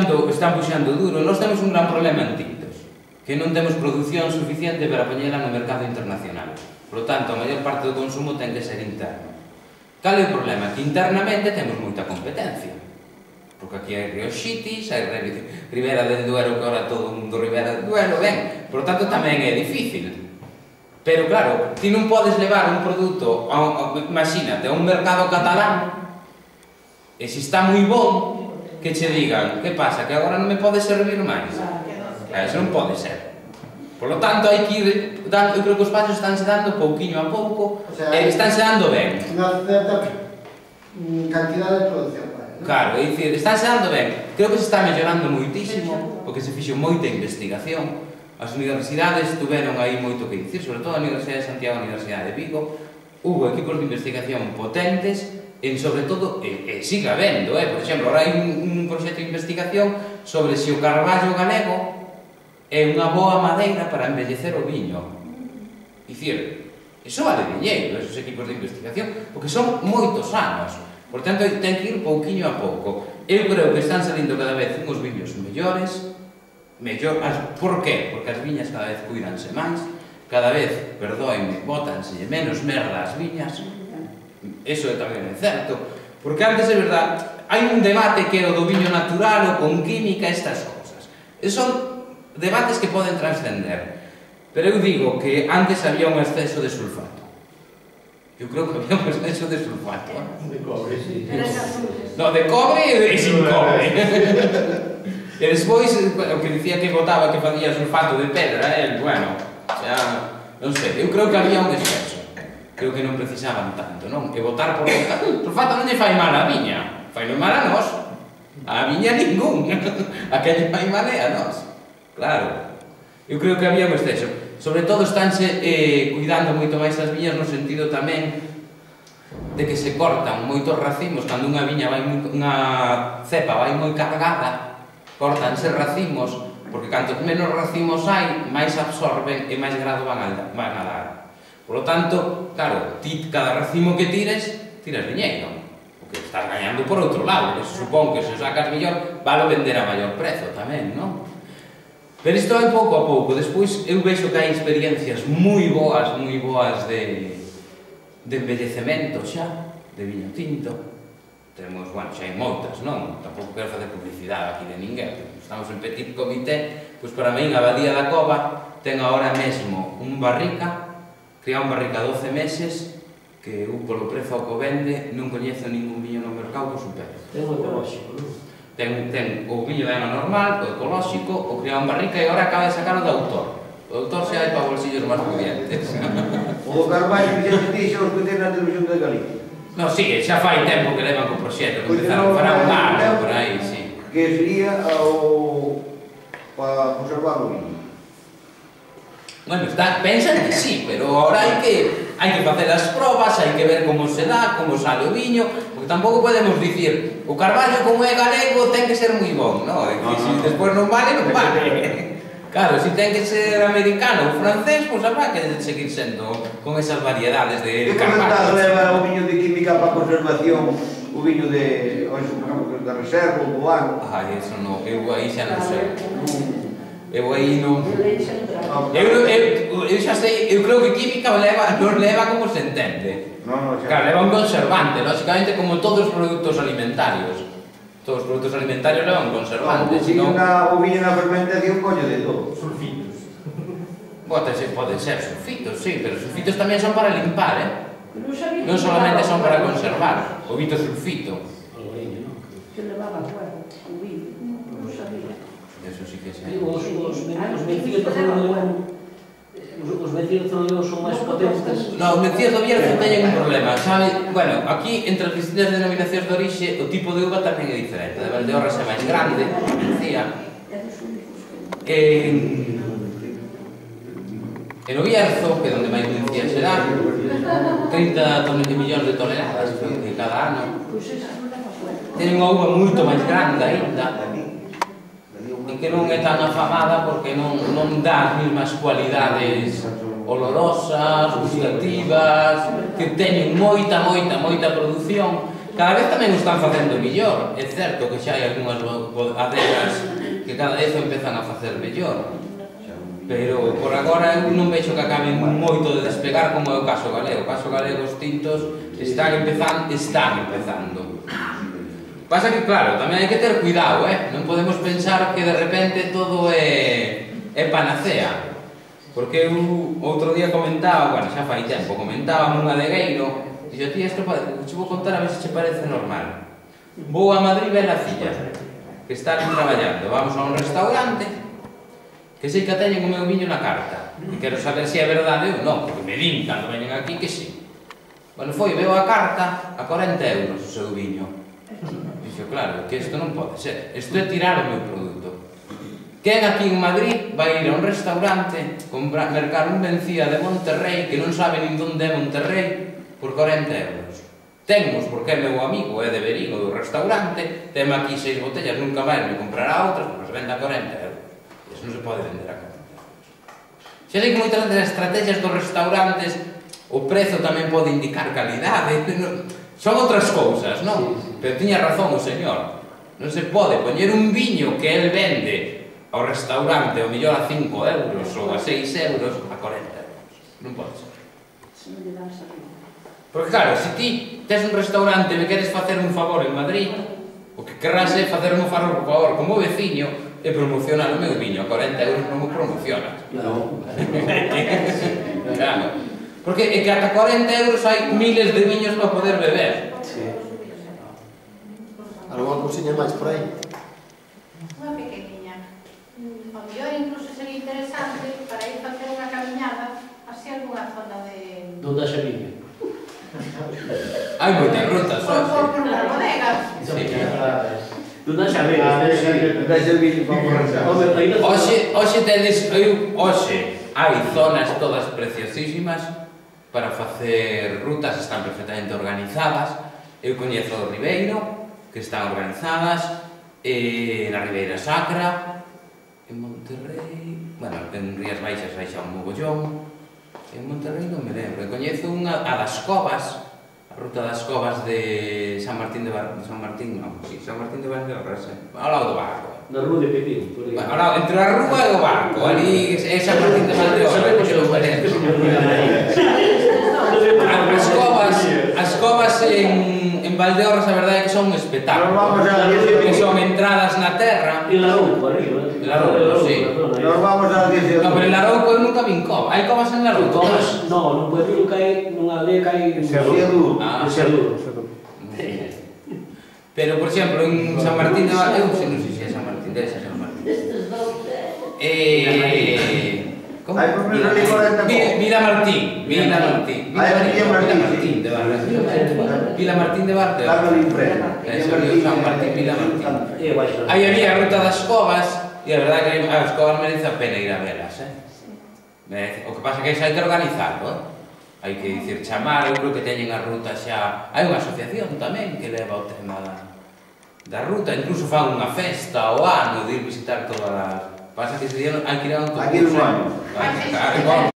Están puxando duro. Nós temos un gran problema en tintos, que non temos produción suficiente para poñela no mercado internacional. Por lo tanto, a maior parte do consumo ten que ser interno. Cal é o problema? Que internamente temos moita competencia. Porque aquí hai Rioxitis, hai Ribera del Duero, que ahora todo o mundo Ribera del Duero, ben. Por lo tanto, tamén é difícil. Pero claro, ti non podes levar un produto, imagínate, a un mercado catalán, e se está moi bon, que che digan, que pasa, que agora non me pode servir máis? Eso non pode ser. Por lo tanto, hai que ir dando, eu creo que os pasos estánse dando pouquiño a pouco, e estánse dando ben. Unha certa cantidad de producción. Claro, é dicir, estánse dando ben. Creo que se está mellorando moitísimo, porque se fixo moita investigación. As universidades tuveron aí moito que dicir, sobre todo a Universidade de Santiago e a Universidade de Vigo. Hubo equipos de investigación potentes, e sobre todo, sigue habendo, por exemplo, ahora hai un proxecto de investigación sobre se o carballo galego é unha boa madeira para embellecer o viño. Dicir, iso vale diñeiro, esos equipos de investigación, porque son moitos anos. Por tanto, ten que ir pouquiño a pouco. Eu creo que están salindo cada vez uns viños mellores. Por qué? Porque as viñas cada vez cuidanse máis, cada vez, perdoenme, bótanse menos merda as viñas. Eso tamén é certo, porque antes, é verdad, hai un debate que é o do viño natural ou con química, estas cousas. Son debates que poden trascender, pero eu digo que antes había un exceso de sulfato. Eu creo que había un exceso de sulfato. De cobre, sí. No, de cobre e sin cobre. E despois, o que dicía que botaba que facía sulfato de pedra, bueno, non sei, eu creo que había un exceso. Creo que non precisaban tanto, non? E botar por botar. Sulfato non lle fai mal a viña, fai mal a nós. A viña ningún. A que lle fai mal é a nós. Claro. Eu creo que había un exceso. Sobre todo estánse cuidando moito máis as viñas no sentido tamén de que se cortan moitos racimos. Cando unha viña vai unha cepa vai moi cargada, cortanse racimos, porque cantos menos racimos hai, máis absorben e máis grado van a dar. Por lo tanto, claro, ti cada racimo que tires diñeiro, porque estás gañando por outro lado, que se supón que se o sacas mellor, vale vender a maior prezo tamén, non? Pero isto vai pouco a pouco. Despois eu vexo que hai experiencias moi boas de embellecemento xa, de viño tinto. Temos, bueno, xa hai moitas, non? Tampouco quero facer publicidade aquí de ninguén. Estamos en petit comité, pois para min a Abadía da Cova ten agora mesmo un barrica, cría un barrica 12 meses, que eu polo prezo ao que vende non coñezo ningún viño no mercado que supere. Ten o ecolóxico, non? Ten o viño de ano normal, o ecolóxico, o cría un barrica e agora acaba de sacar o de autor. O autor xa hai para bolsillos máis pudientes. O do Carballo que xa te dixo os que ten na televisión de Galicia. Non, sí, xa fai tempo que levan co proxecto, que empezaron para un ano, por aí, sí. Que sería para conservar o viño. Bueno, pensan que sí, pero ahora hai que facer as probas, hai que ver como se dá, como sale o viño, porque tampouco podemos dicir o carballo como é galego ten que ser moi bon, non? Se despois non vale, non vale. Claro, se ten que ser americano ou francés, pois habrá que seguir sendo con esas variedades de carballo. Que comentas leva o viño de química para conservación, o viño de da reserva, o ano? Ai, eso non, eu aí xa non sei. Eu aí non... Eu xa sei, eu creo que química non leva como se entende. Claro, leva un conservante, lógicamente como todos os produtos alimentarios. Todos os produtos alimentarios levan conservantes. O viño na fermentación coño de todo. Sulfitos. Poden ser sulfitos, sí, pero sulfitos tamén son para limpar, non solamente son para conservar. O vito sulfito. Que levaba fuego, o viño, non sabía. Eso sí que sei. Os vencidos son máis potentes. Non, os vencidos do Bierzo teñen un problema, sabe? Bueno, aquí, entre as distintas denominacións de orixe, o tipo de uva tamén é diferente. A de Valdeorras é máis grande, decía. En o Bierzo, que é onde máis vencía será, 30 millóns de toneladas de cada ano. Ten unha uva moito máis grande aínda, e que non é tan afamada porque non dá as mesmas cualidades olorosas, gustativas, que teñen moita produción, Cada vez tamén o están facendo mellor. É certo que xa hai algunhas adegas que cada vez o empezan a facer mellor. Pero por agora eu non vexo que acaben moito de despegar como é o caso galego. O caso galego, os tintos están empezando. Pasa que, claro, tamén hai que ter cuidado, non podemos pensar que de repente todo é panacea. Porque eu outro día comentaba, bueno, xa fai tempo, comentaba un adegueiro, dixo, tía, isto te vou contar a ver se che parece normal. Vou a Madrid ver a filla, que están traballando, vamos a un restaurante, que sei que teñen o meu viño na carta, e quero saber se é verdade ou non, porque me din cando veñen aquí que sí. Bueno, foi, veo a carta a 40 euros o seu viño. Dixo, claro, que isto non pode ser, isto é tirar o meu produto. Quen aquí en Madrid vai ir a un restaurante, mercar un Mencía de Monterrey, que non sabe nin onde é Monterrey, por 40 euros. Temos, porque é meu amigo, é de Verín, do restaurante, teme aquí 6 botellas, nunca máis me comprará outras, porque se vende a 40 euros. Iso non se pode vender a 40 euros. Xa sei que moitas das estrategias dos restaurantes, o prezo tamén pode indicar calidade, son outras cousas, non? Pero tiña razón o señor. Non se pode poñer un viño que el vende ao restaurante, ao mellor a 5 euros ou a 6 euros, a 40 euros. Non pode ser. Porque claro, se ti tes un restaurante e me queres facer un favor en Madrid, o que querrás é facer un favor como veciño e promocionar o meu viño. A 40 euros non o promocionas. Non. Claro. Porque é que ata 40 euros hai miles de viños para poder beber. Sí. Algo cousiña máis por aí? Unha pequeniña. O mellor incluso sería interesante para ir facer unha camiñada así algunha zona de... Donde haxa viño. Hai moitas rutas, Por unha bodega. Sí. Donde haxa viño. Dais el vídeo para borrachar. Hoxe hai zonas todas preciosísimas para facer rutas, están perfectamente organizadas. Eu coñezo o Ribeiro, que están organizadas, na Ribeira Sacra, en Monterrey, bueno, en Rías Baixas hai xa un mogollón, en Monterrey non me lembro, coñezo unha, a das Covas, a ruta das Covas de San Martín de Valdeorras, ao lado do barco. Na rúa de Pepín, por aí. Bueno, ao lado, entre a rúa e o barco, ali é San Martín de Valdeorras, que non me lembro. As covas en Valdeorras, a verdade é que son un espectáculo. Que son entradas na terra. E Larouco, arriba. Larouco, sí. Nos vamos a 18. No, pero en Larouco eu nunca vin cova. Hai covas en Larouco? Covas, non, nun pueblo que hai, nunha aldea que hai... Cerrudo. Ah, Cerrudo. pero, por exemplo, en San Martín de Valdeorras, eu non sei se é San Martín, debe ser San Martín. ¿Cómo? Hay por menos de 40 Vila Martín de Barrio. Carlos de Infreno. San Martín, Vila Martín. Aí había a ruta das covas e a verdade que as covas merece a pena ir a velas, O que pasa é que xa hai que organizarlo, hai que dicir chamar, eu creo que teñen a ruta xa... Hai unha asociación tamén que leva o tema da ruta, incluso fan unha festa ao ano de ir visitar todas as... Pasa que ese día hai que ir a un concurso. Aquí non vamos. Claro,